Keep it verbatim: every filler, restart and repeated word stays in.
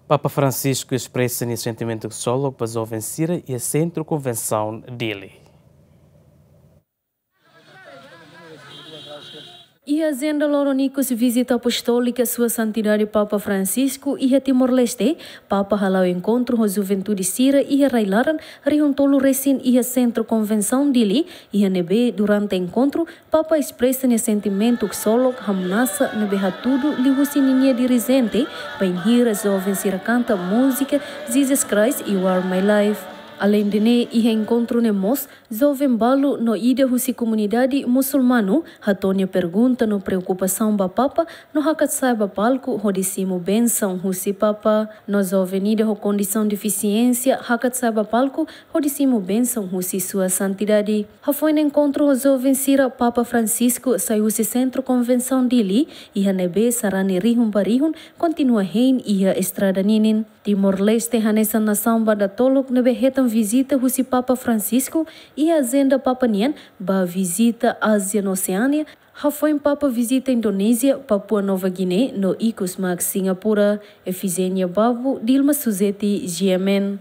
Papa Francisco espresa nia sentimentu ksolok ba joven sira iha Sentru Konvensaun Dili. Iha ajenda loron ikus vizita apostólika Sua Santidade Papa Francisco iha Timor-Leste, Papa hala'o enkontru ho juventude sira iha rai-laran rihun tolu resin iha Sentru Konvensaun Dili, iha ne'ebé durante enkontru Papa espresa nia sentimentu ksolok hamnasa ne'ebé hatudu liuhusi ninia dirijente, bainhira joven sira kanta múzika Jesus Christ, You Are My Life. Aleinde ne'e, iha enkontru ne'e mós, joven balu no ida husi komunidade musulmanu hato'o nia pergunta no preokupasaun ba Papa no hakat sa'e ba palku hodi simu bensaun husi Papa. No joven ida ho kondisaun defisiénsia hakat sa'e ba palku hodi simu bensaun husi Sua Santidade. Hafoin enkontru ho joven sira, Papa Francisco sai husi Sentru Konvensaun Dili, iha ne'ebé sarani rihun ba rihun kontinua hein iha estrada ninin. Timor-Leste hanesan nasaun ba datoluk ne'ebé hetan vizita husi Papa Francisco iha ajenda Papa nian ba vizita Ázia no Oseánia, hafoin Papa vizita Indonézia, Papua Nova Guiné no ikus mak Singapura. Efigénia Babo, Dilma Suzeti, G M N.